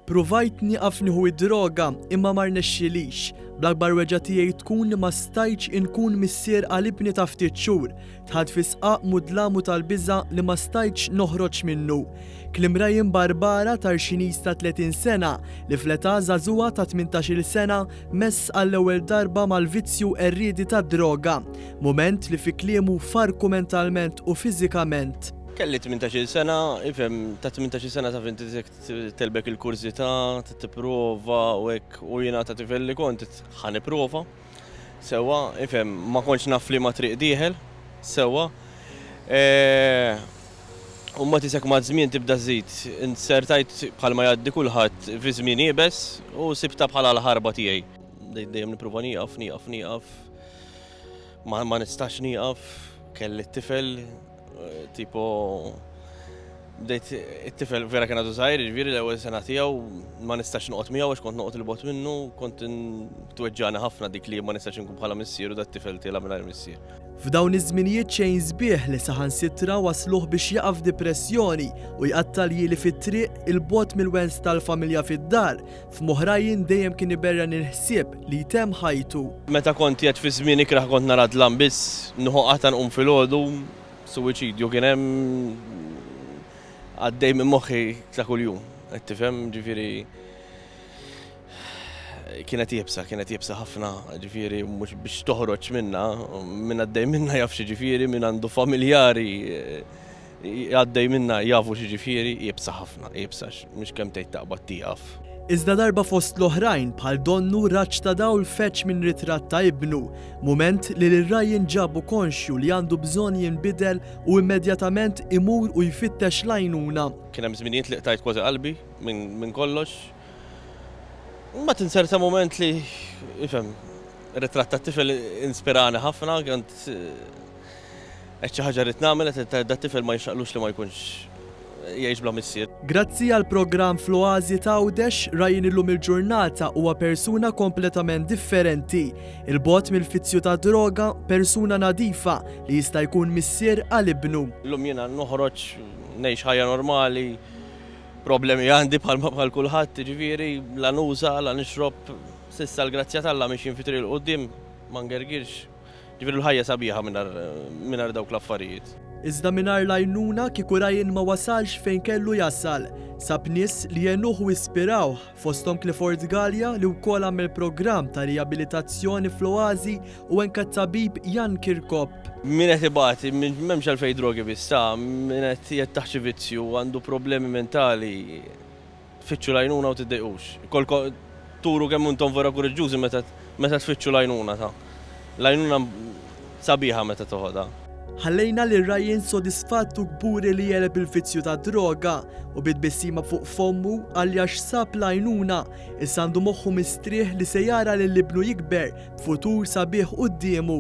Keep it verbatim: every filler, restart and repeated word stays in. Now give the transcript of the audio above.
Provajt nieqaf nieħu id-droga imma ma rnexxilix. Bl-akbar weġgħa tiegħi tkun li ma stajtx inkun missier għal ibni ta' ftit xhur. Dħalt fi sqaq mudlam u tal-biża' li ma stajtx noħroġ minnu. Kliem Ryan Barbara, Tarxiniż ta' tletin sena li fl-età żagħżugħa ta' tmintax-il sena mess għall-ewwel darba mal-vizzju qerriedi tad-droga. Mument li fi kliemu farku mentalment u fiżikament. Kelli tmintax-il sena, ifhem, ta' tmintax-il sena taf inti telbek il-kurżità, tipprova u hekk, u jiena ta' tifel li kont ħa nipprova. Sewwa, ifhem, ma kontx naf li ma triq dieħel, sewwa. E, u ma tisek ma' żmien tibda żid, insertajt bħalma jgħaddi kulħadd fi żmien iebes u sibta bħala l-ħarba tiegħi. Dejjem nipprova nieqaf, nieqaf, nieqaf. Ma, ma nistax nieqaf, kelli t-tifel, tipo bdejt it-tifel vera kien għadu żgħir, jiġifieri l-ewwel sena tiegħu ma nistax noqgħod miegħu għax kont noqgħod il-bogħod minnu, kont tweġġani ħafna dik li ma nistax inkun bħala missier u dat-tifel tiela' mingħajr missier. F'dawn iż-żminijiet xejn sbieħ li saħansitra wasluh biex jaqa' f'depressjoni u jqatta' ljieli fit-triq il-bogħod mill-wens tal-familja fid-dar, f'moħħ Ryan dejjem kien iberren il-ħsieb li jtemm ħajtu. Meta kont qiegħed fi żmien ikrah kont nara dlam biss, nieħu qatgħa nqum filgħodu, suwiċidju kien hemm għaddej minn moħħi ta' kuljum, qed tifhem, ġifieri kienet iebsa, kienet iebsa ħafna, ġifieri mhux biex toħroġ minna, min għaddej minna jaf xi ġifieri, min għandu familjari għaddej minna jafu xi ġifieri, iebsa ħafna, iebsa, mhux kemm tgħid taqbad tieqaf. Iżda darba fost l-oħrajn bħal donnu raġġ ta' dawl feċ minn ritratt ta' ibnu, mument li lil Ryan ġabu konxju li għandu bżonn jinbidel u immedjatament imur u jfittex l-għajnuna. Kien hemm żminijiet li qtajt kważi qalbi minn, minn kollox. Ma tinserta moment li, ifhem, ritratt tat-tifel inspirani ħafna, kont qed xi ħaġa rrid nagħmel, qed dat-tifel ma jinxaqlux li ma jkunx jgħix bla missier. Grazzi għal programm fl-Oażi ta' Għawdex, Ryan illum il-ġurnata huwa persuna kompletament differenti. Il-bogħod mill-fizzju ta' droga, persuna nadifa li jista' jkun missier għal ibnu. Illum jiena noħroġ, ngħix ħajja normali, problemi għandi bħal bħal kulħadd, ġifieri la nuża, la nixrob, s'issa l-grazzja t'Alla mixjin fi triq 'il quddiem, ma ngergirx. Ġifieri l-ħajja sabiħa mingħajr dawk l-affarijiet. Iżda mingħajr l-għajnuna kieku Ryan ma wasalx fejn kellu jasal. Sab nies li għenuh u ispirawh, fosthom Clifford Galea li wkoll għamel programm ta' riabilitazzjoni fl-Oażi u anke t-tabib Jan Kirkop. Min qed ibati, m'hemmx għalfejn drogi biss, ta' min qed jettaħ xi vizzju, għandu problemi mentali, fittxu l-għajnuna u tiddejqux. Kolko turu kemm intom vera kuraġġużi meta, meta tfittxu l-għajnuna ta'. L-għajnuna sabiħa meta toħodha. Ħallejna lil Ryan sodisfatt u kburi li jeleb il-vizzju ta' droga u bit-tbissima fuq fommu għalli għax sab l-għajnuna, issa għandu moħħu mistrieħ li se jara lil ibnu jikber b'futur sabiħ quddiemu.